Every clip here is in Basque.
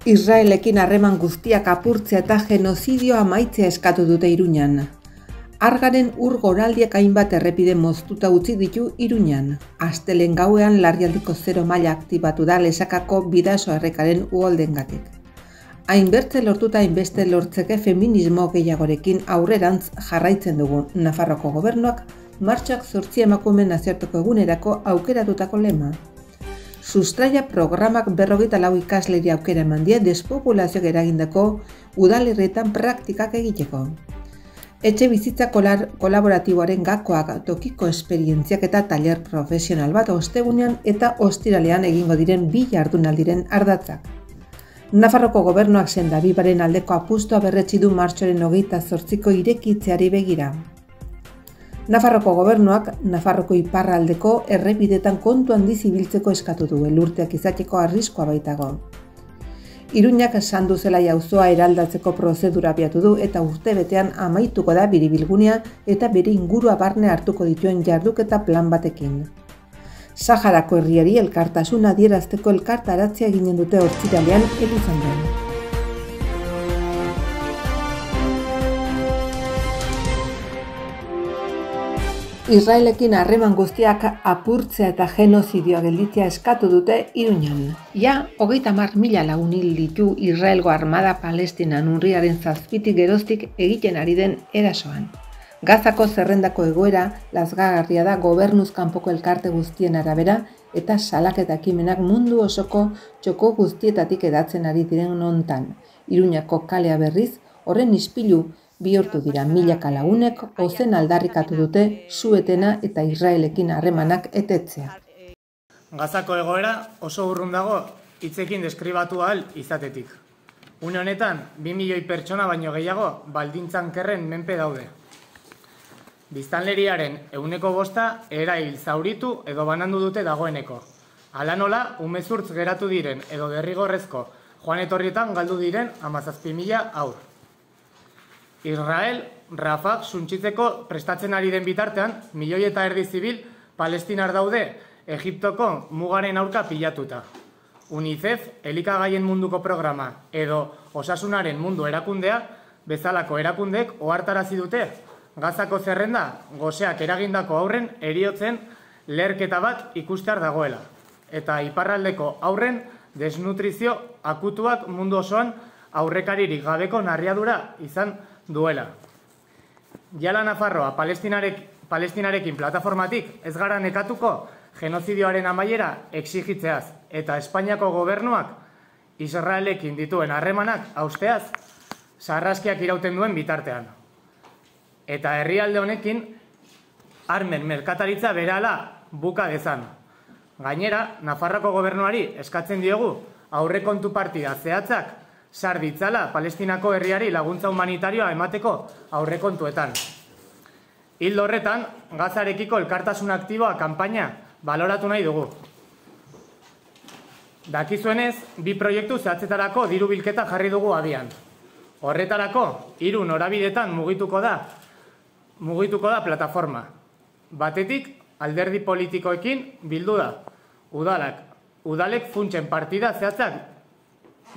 Israelekin harreman guztiak apurtzea eta genozidioa amaitzea eskatu dute Iruñan. Argaren ur goraldiak hainbat errepide moztuta utzi ditu Iruñan. Astelehen gauean larrialdiko 0 maila aktibatu da Lesakako Bidaso errekaren uholdengatik. Hainbertze lortuta hainbeste lortzeke feminismo gehiagorekin aurrerantz jarraitzen dugu Nafarroko gobernuak martxak 8 emakumeen nazioarteko egunerako aukeratutako lema. Sustraia programak 44 ikasleri aukera eman die despopulazioak eragindako udalerrietan praktikak egiteko. Etxe bizitza kolaboratiboaren gakoak tokiko esperientziak eta taller profesional bat ostegunean eta ostiralean egingo diren 2 jardunaldiren ardatzak. Nafarroko gobernuak sendabibaren aldeko apustua berretsi du martxoaren 28ko irekitzeari begira. Nafarroko gobernuak Nafarroko iparraldeko errepidetan kontu handiz ibiltzeko eskatu du, elurteak izateko arriskua baitago. Iruñak Sanduzelaia auzoa eraldatzeko prozedura abiatu du eta urtebetean amaituko da biribilgunea eta bere ingurua barne hartuko dituen jarduketa plan batekin. Saharako herriari elkartasuna adierazteko elkartaratzea eginen dute ostiralean Elizondoan. Israelekin harreman guztiak apurtzea eta genozidioa gelditzea eskatu dute Iruñan. Ja, 30.000 lagun hil ditu Israelgo armada Palestinan urriaren 7tik geroztik egiten ari den erasoan. Gazako zerrendako egoera lazgarria da gobernuz kanpoko elkarte guztien arabera eta salaketa ekimenak mundu osoko txoko guztietatik edatzen ari diren hontan. Iruñako kalea berriz horren ispilu bihurtu dira milaka lagunek ozen aldarrikatu dute su-etena eta Israelekin harremanak etetzea. Gazako egoera oso urrun dago hitzekin deskribatu ahal izatetik. Une honetan 2 milioi pertsona baino gehiago baldintzan kerren menpe daude. Biztanleriaren 5% erail zauritu edo banandu dute dagoeneko. Hala nola, umezurtz geratu diren edo derrigorrezko joan etorrietan galdu diren 17.000 haur. Israel, Rafah suntsitzeko prestatzen ari den bitartean, 1,5 milioi zibil palestinar daude Egiptoko mugaren aurka pilatuta. UNICEF, elikagaien munduko programa edo osasunaren mundu erakundea, bezalako erakundeek ohartarazi dute Gazako zerrenda goseak eragindako aurren heriotzen leherketa bat ikustear dagoela. Eta iparraldeko aurren desnutrizio akutuak mundu osoan aurrekaririk gabeko narriadura izan duela. Jala Nafarroa Palestinarekin plataformatik ez gara nekatuko genozidioaren amaiera exigitzeaz eta Espainiako gobernuak Israelekin dituen harremanak hausteaz sarraskiak irauten duen bitartean. Eta herrialde honekin armen merkataritza berehala buka dezan. Gainera, Nafarroko gobernuari eskatzen diogu aurrekontu partida zehatzak sar ditzala Palestinako herriari laguntza humanitarioa emateko aurrekontuetan. Ildo horretan, Gazarekiko elkartasun aktiboa kanpaina baloratu nahi dugu. Dakizuenez, 2 proiektu zehatzetarako diru bilketa jarri dugu abian. Horretarako, 3 norabidetan mugituko da plataforma. Batetik, alderdi politikoekin bildu da. Udalek funtsen partida zehatzak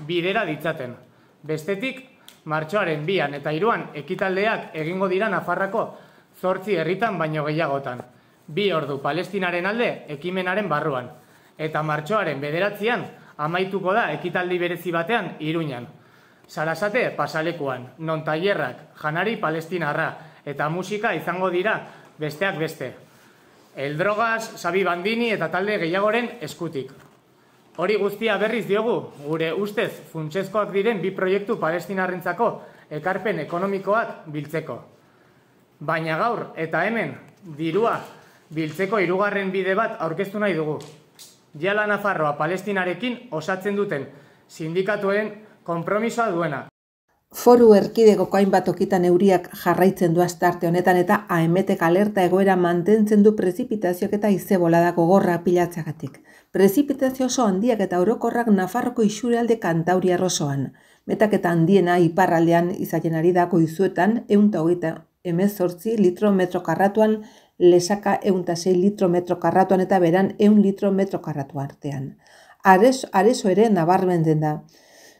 bidera ditzaten. Bestetik, martxoaren 2 eta 3 ekitaldeak egingo dira Nafarrako 8 herritan baino gehiagotan. 2 ordu Palestinaren alde ekimenaren barruan. Eta martxoaren 9 amaituko da ekitaldi berezi batean Iruñan. Sarasate pasalekuan, non tailerrak, janari palestinarra eta musika izango dira besteak beste. Eldrogaz, Xabi Bandini eta talde gehiagoren eskutik. Hori guztia berriz diogu, gure ustez funtsezkoak diren 2 proiektu palestinarrentzako ekarpen ekonomikoak biltzeko. Baina gaur eta hemen dirua biltzeko 3. bide bat aurkeztu nahi dugu. Jala Nafarroa Palestinarekin osatzen duten sindikatuen konpromisoa duena. Foru erkidegoko hainbat tokitan euriak jarraitzen du astarte honetan eta AEMETek alerta egoera mantentzen du prezipitazioak eta haize-bolada gogorra pilatzeagatik. Prezipitazio oso handiak eta orokorrak Nafarroko isurialde kantauriar osoan. Metaketa handiena iparraldean izaten ari da goizuetan 128 litro metro karratuan, Lesaka 106 litro metro karratuan eta Beran 100 litro metro karratu artean. Areso ere nabarmentzen da.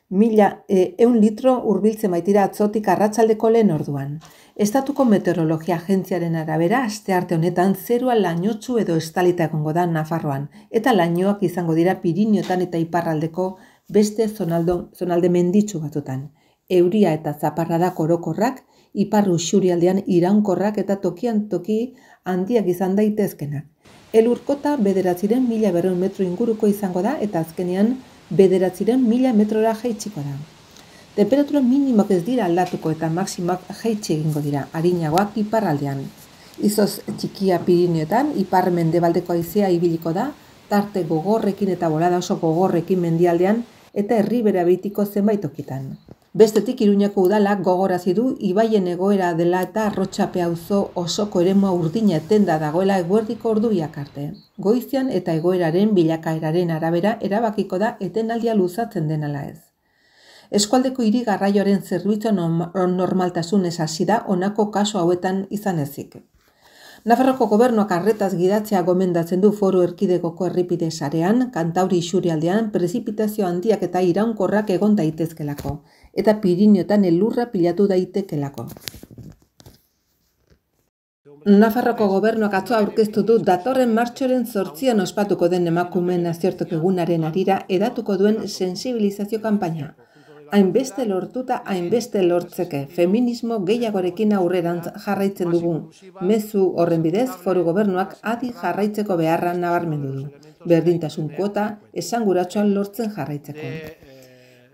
1.100 litro hurbiltzen baitira atzotik arratsaldeko lehen orduan. Estatuko Meteorologia Agentziaren arabera, astearte honetan zerua lainotsu edo estalita egongo da Nafarroan, eta lainoak izango dira Pirinioetan eta iparraldeko beste zonalde menditsu batzutan. Euria eta zaparradak orokorrak, ipar isurialdean iraunkorrak eta tokian toki handiak izan daitezkenak. Elurkota 9.200 metro inguruko izango da eta azkenean 9.100 metrora jaitsiko da. Temperatura minimoak ez dira aldatuko eta maksimoak jaitsi egingo dira, arinagoak iparraldean. Izoz txikia Pirinioetan, ipar mendebaldeko haizea ibiliko da, tarte gogorrekin eta bolada oso gogorrekin mendialdean eta herribera beitiko zenbait tokitan. Bestetik Iruñako udalak gogorazi du ibaien egoera dela eta Arrotxape auzo osoko eremua urdina etenda dagoela eguerdiko ordubiak arte. Goizean eta egoeraren bilakaeraren arabera erabakiko da etenaldia luzatzen den ala ez. Eskualdeko hiri garraioaren zerbitzu normaltasunez hasi da honako kasu hauetan izan ezik. Nafarroko gobernuak arretaz gidatzea gomendatzen du Foru Erkidegoko errepide sarean, Kantauri isurialdean prezipitazio handiak eta iraunkorrak egon daitezkelako, eta Pirinioetan elurra pilatu daitekelako. Nafarroko gobernuak atzo aurkeztu du datorren martxoaren 8an ospatuko den emakumeen nazioarteko egunaren harira hedatuko duen sensibilizazio kanpaina. Hainbeste lortuta, hainbeste lortzeke, feminismo gehiagorekin aurrerantz jarraitzen dugu. Mezu horren bidez, Foru Gobernuak adi jarraitzeko beharra nabarmendu du. Berdintasun kuota esanguratsuan lortzen jarraitzeko.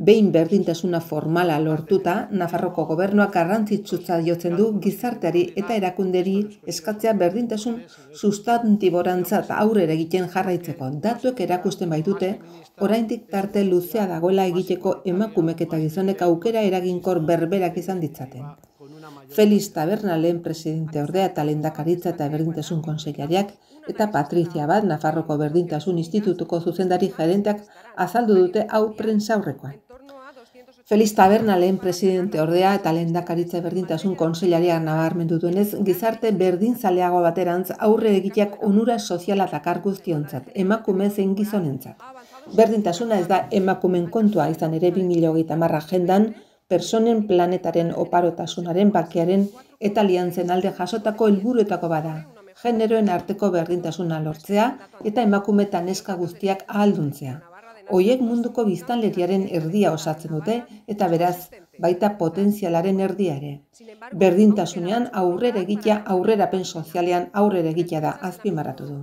Behin berdintasuna formala lortuta, Nafarroko gobernuak garrantzitsutza jotzen du gizarteari eta erakunderi eskatzea berdintasun sustantiborantzat aurrera egiten jarraitzeko. Datuek erakusten baitute, oraindik tarte luzea dagoela egiteko emakumek eta gizonek aukera eraginkor berberak izan ditzaten. Felix Taberna lehen presidente ordea eta lehendakaritza eta berdintasun kontseilariak eta Patrizia Bat Nafarroko Berdintasun Institutuko zuzendari gerenteak azaldu dute hau prentsaurrekoan. Felix Taberna lehen presidente ordea eta lehendakaritza berdintasun kontseilariak nabarmendu duenez, gizarte berdinzaleago baterantz aurre egiteak onura soziala dakar guztiontzat, emakume zein gizonentzat. Berdintasuna ez da emakumen kontua izan ere 2030 agendan, personen planetaren oparotasunaren bakearen eta aliantzen alde jasotako helburuetako bada. Generoen arteko berdintasuna lortzea eta emakume eta neska guztiak ahalduntzea. Hoiek munduko biztanleriaren erdia osatzen dute eta beraz baita potentzialaren erdia ere. Berdintasunean aurrera egitea, aurrerapen sozialean aurrera egitea da azpimarratu du.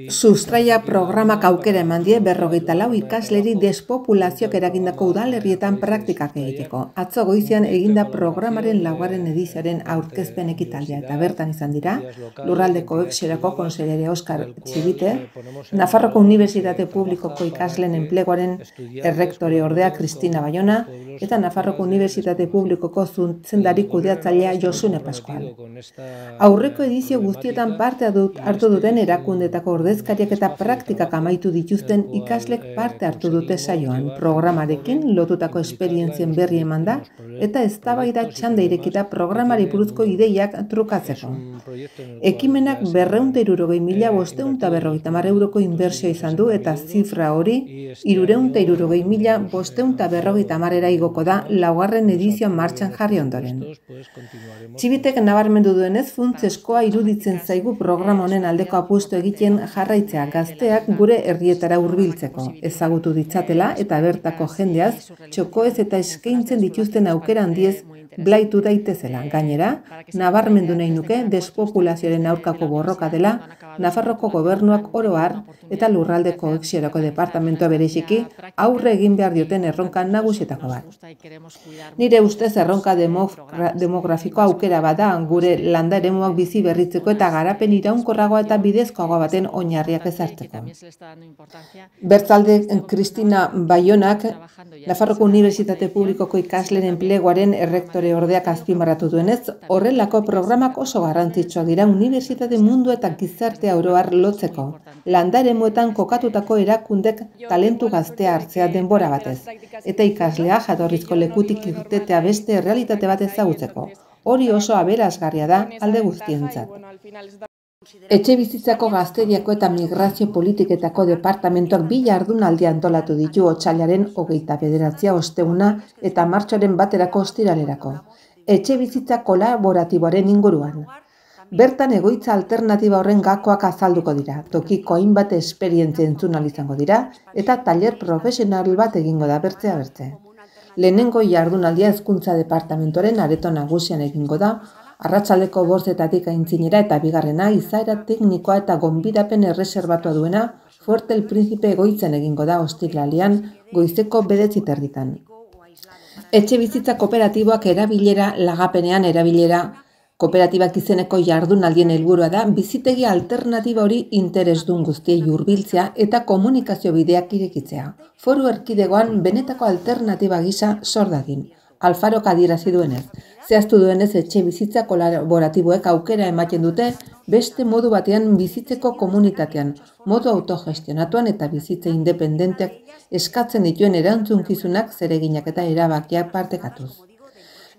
Sustraia programak aukera eman die 54 ikasleri despopulazioak eragindako udalerrietan praktikak egiteko. Atzo goizean eginda programaren 4. edizioaren aurkezpen ekitaldea eta bertan izan dira, Lurraldeko Exerako konseilari Oskar Txibite, Nafarroko Unibertsitate Publikoko ikasleen enpleguaren errektore ordea Kristina Bayona eta Nafarroko Unibertsitate Publikoko zuzendari kudeatzailea Josune Pascual. Aurreko edizio guztietan parte hartu duten erakunde ordezkariak eta praktikak amaitu dituzten ikaslek parte hartu dute saioan. Programarekin lotutako esperientzien berri eman da eta eztabaida txanda irekita programari buruzko ideiak trukatzeko. Ekimenak 260.550 euroko inbertsio izan du eta zifra hori 360.550 igoko da 4. edizioa martxan jarri ondoren. Txibitek nabarmendu duenez funtseskoa iruditzen zaigu programa honen aldeko apustu egiten jarraitzea gazteak gure herrietara hurbiltzeko, ezagutu ditzatela eta bertako jendeaz txokoez eta eskaintzen dituzten aukera handiez blaitu daitezela. Gainera, nabarmendu nahi nuke despopulazioaren aurkako borroka dela Nafarroko gobernuak oro har eta Lurraldeko Exerako departamentoa bereziki aurre egin behar dioten erronka nagusietako bat. Nire ustez erronka demografiko aukera bada gure landa eremuak bizi berritzeko eta garapen iraunkorragoa eta bidezkoagoa baten oinarriak ezartzeko. Bertzalde Kristina Bayonak Nafarroko Unibertsitate Publikoko ikasleen enpleguaren errektore ordeak azpimarratu duenez, horrelako programak oso garrantzitsuak dira unibertsitate mundu eta gizartea oro har lotzeko. Landa eremuetan kokatutako erakundek talentu gaztea hartzea denbora batez, eta ikaslea jatorrizko lekutik irtetea beste errealitate bat ezagutzeko. Hori oso aberasgarria da alde guztientzat. Etxebizitzako Gazteriako eta Migrazio Politiketako departamentuak bi jardunaldi antolatu ditu otsailaren 29 osteguna eta martxoaren 1 ostiralerako. Etxebizitza kolaboratiboaren inguruan. Bertan egoitza alternatiba horren gakoak azalduko dira, tokiko hainbat esperientzia entzun ahal izango dira eta tailer profesional bat egingo da bertzea bertze. Lehenengo jardunaldia Hezkuntza Departamentuaren areto nagusian egingo da, arratsaldeko 5 aintzinera eta bigarrena izaera teknikoa eta gonbidapen erreserbatua duena Fuerte el Príncipe egoitzen egingo da ostiralean goizeko 9:30. Etxebizitza kooperatiboak erabilera lagapenean erabilera kooperatibak izeneko jardunaldien helburua da bizitegi alternatiba hori interesdun guztiei hurbiltzea eta komunikazio bideak irekitzea. Foru erkidegoan benetako alternatiba gisa sor dadin. Alfarok adierazi duenez, zehaztu duenez etxebizitza kolaboratiboek aukera ematen dute beste modu batean bizitzeko komunitatean, modu autogestionatuan eta bizitza independenteak eskatzen dituen erantzunkizunak, zereginak eta erabakiak partekatuz.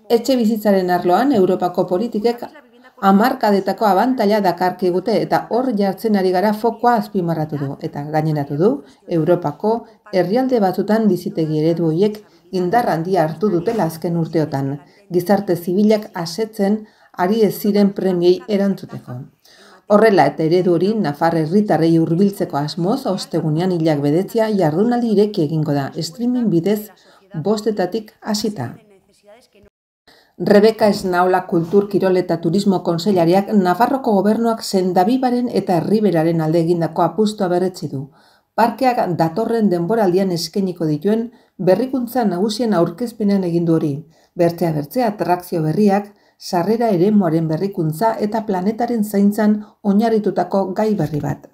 Etxebizitzaren arloan Europako politikek hamarkadetako abantaila dakarkigute eta hor jartzen ari gara fokoa azpimarratu du eta gaineratu du Europako herrialde batzutan bizitegi eredu horiek indar handia hartu dutela azken urteotan, gizarte zibilak asetzen ari ez ziren premiei erantzuteko. Horrela eta eredu hori Nafar herritarrei hurbiltzeko asmoz ostegunean hilak bedetzea jardunaldi ireki egingo da, streaming bidez 5:00 hasita. Rebeka Esnaola Kultur, Kirol eta Turismo Kontseilariak Nafarroko gobernuak Sendabibaren eta Erriberaren alde egindako apustua berretsi du. Parkeak datorren denboraldian eskainiko dituen berrikuntza nagusien aurkezpenean egin du hori. Bertzea atrakzio berriak, sarrera eremuaren berrikuntza eta planetaren zaintzan oinarritutako gai berri bat.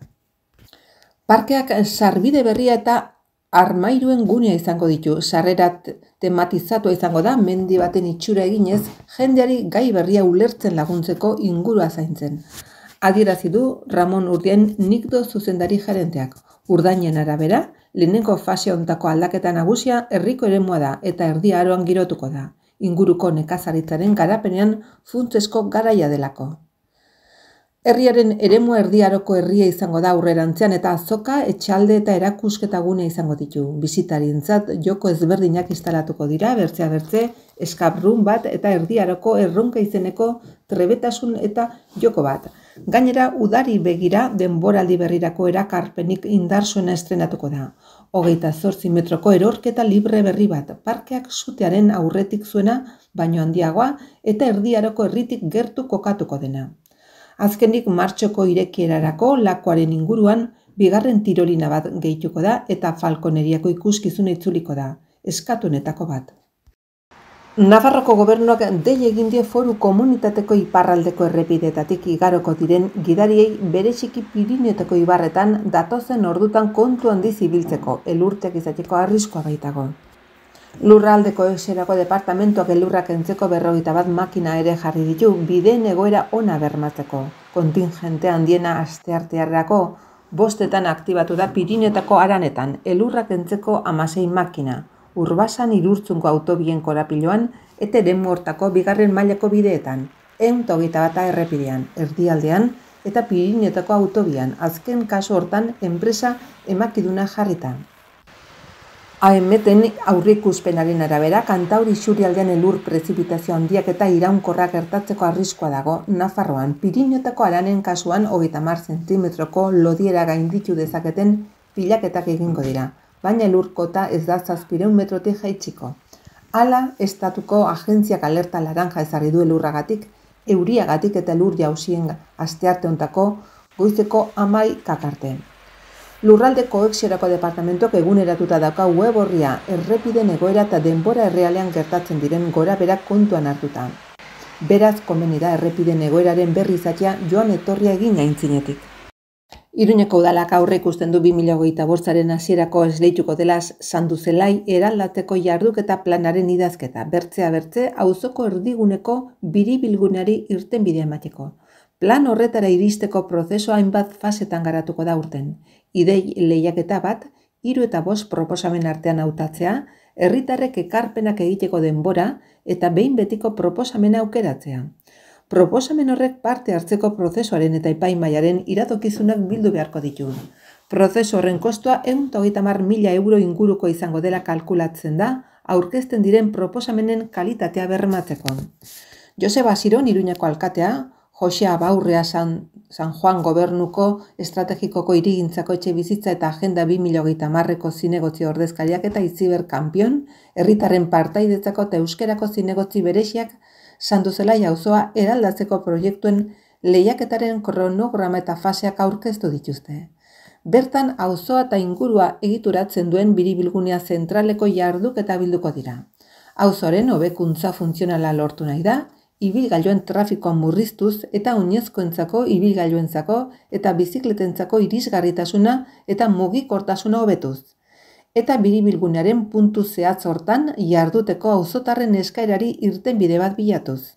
Parkeak sarbide berria eta armairuen gunea izango ditu, sarrera tematizatua izango da, mendi baten itxura eginez, jendeari gai berria ulertzen laguntzeko ingurua zaintzen. Adierazi du Ramon Urdien Nikdo zuzendari gerenteak. Urdainen arabera, lehenengo fase hontako aldaketa nagusia herriko eremua da eta Erdi Aroan girotuko da. Inguruko nekazaritzaren garapenean funtsezko garaia delako. Herriaren eremua Erdi Aroko herria izango da aurrerantzean eta azoka, etxalde eta erakusketa gune izango ditu. Bisitarientzat joko ezberdinak instalatuko dira, bertzea escape room bat eta Erdi Aroko erronka izeneko trebetasun eta joko bat. Gainera, udari begira denboraldi berrirako erakarpenik indarsuena estrenatuko da. 28 metroko erorketa libre berri bat, parkeak sutearen aurretik zuena, baino handiagoa eta Erdi Aroko herritik gertu kokatuko dena. Azkenik martxoko irekierarako lakoaren inguruan bigarren tirolina bat gehituko da eta falkoneriako ikuskizuna itzuliko da, eskatuenetako bat. Nafarroko gobernuak dei egin die foru komunitateko iparraldeko errepideetatik igaroko diren gidariei bereziki Pirinioetako ibarretan datozen ordutan kontu handiz ibiltzeko, elurteak izateko arriskoa baitago. Lurraldeko eserako departamentuak elurrak kentzeko 51 makina ere jarri ditu bideen egoera ona bermatzeko. Kontingente handiena asteartearrako 5:00 aktibatu da Pirinioetako haranetan, elurrak kentzeko 16 makina. Urbasan Irurtzungo autobien korapiloan eta eremu hortako bigarren mailako bideetan, 121 errepidean, erdialdean eta Pirinioetako autobian, azken kasu hortan enpresa emakiduna jarrita. AEMeten aurreikuspenaren arabera, Kantauri isurialdean elur prezipitazio handiak eta iraunkorrak gertatzeko arriskoa dago Nafarroan. Pirinioetako haranen kasuan 30 zentimetroko lodiera gainditu dezaketen pilaketak egingo dira, baina elurkota ez da 700 metrotik jaitsiko. Hala, estatuko agentziak alerta laranja ezarri du elurragatik, euriagatik eta elur jausien astearte hontako goizeko 11 arte. Lurralde koheziorako departamentuak eguneratuta dauka web orria errepiden egoera eta denbora errealean gertatzen diren gorabeherak kontuan hartuta. Beraz, komeni da errepiden egoeraren berri izatea joan etorria egin aintzinetik. Iruñeko udalak aurreikusten du 2025aren hasierako esleituko dela Sanduzelai eraldateko jarduketa planaren idazketa, bertzea auzoko erdiguneko biribilguneari irtenbidea emateko. Plan horretara iristeko prozesua hainbat fasetan garatuko da urten. Idei lehiaketa bat, 3 eta 5 proposamen artean hautatzea, herritarrek ekarpenak egiteko denbora eta behin betiko proposamena aukeratzea. Proposamen horrek parte hartzeko prozesuaren eta epaimahaiaren iradokizunak bildu beharko ditu. Prozesu horren kostua 130.000 euro inguruko izango dela kalkulatzen da, aurkezten diren proposamenen kalitatea bermatzeko. Joseba Asiron, Iruñako alkatea, Jose Abaurrea San Juan gobernuko estrategikoko hirigintzako etxe bizitza eta agenda 2030ko zinegotzi ordezkariak eta Itziber Kanpion, herritarren partaidetzako eta euskerako zinegotzi bereziak Sanduzelai auzoa eraldatzeko proiektuen lehiaketaren kronograma eta faseak aurkeztu dituzte. Bertan auzoa eta ingurua egituratzen duen biribilgunea zentraleko jarduketa bilduko dira. Auzoren hobekuntza funtzionala lortu nahi da, ibilgailuen trafikoa murriztuz eta oinezkoentzako, ibilgailuentzako eta bizikletentzako irisgarritasuna eta mugikortasuna hobetuz. Eta biribilgunearen puntu zehatz hortan jarduteko auzotarren eskaerari irtenbide bat bilatuz.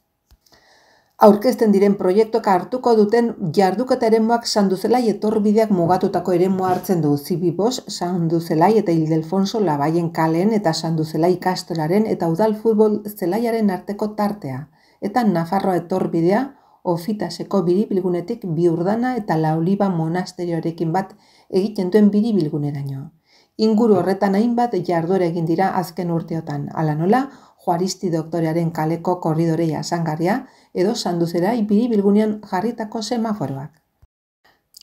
Aurkezten diren proiektuak hartuko duten jarduketa eremuak Sanduzelai etorbideak mugatutako eremua hartzen du. Zibibos, Sanduzelai eta Ildefonso Labaien kaleen eta Sanduzelai ikastolaren eta udal futbol zelaiaren arteko tartea. Eta Nafarroa etorbidea Ofitaseko biribilgunetik Biurdana eta Laoliba monasterioarekin bat egiten duen biribilguneraino. Inguru horretan hainbat jarduera egin dira azken urteotan, hala nola, Juaristi doktorearen kaleko korridore jasangarria edo Sanduzelai biribilgunean jarritako semaforoak.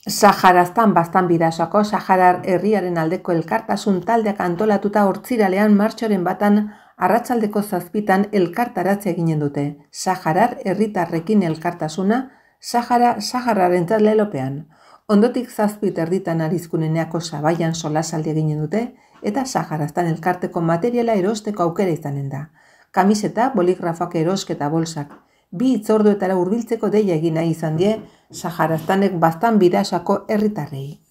Saharaztan Baztan Bidasoako Saharar herriaren aldeko elkartasun taldeak antolatuta Hortziralean martxoaren batan arratsaldeko 7 elkartaratze eginen dute. Saharar herritarrekin elkartasuna, Sahararentzat lelopean. Ondotik 7:30 Arizkuneneako Sabaian solasaldi eginen dute eta Saharaztan elkarteko materiala erosteko aukera izanen da. Kamiseta, boligrafoak erosketa bolsak. 2 hitzorduetara hurbiltzeko deia egin nahi izan die Saharaztanek Baztan Bidasoako herritarrei.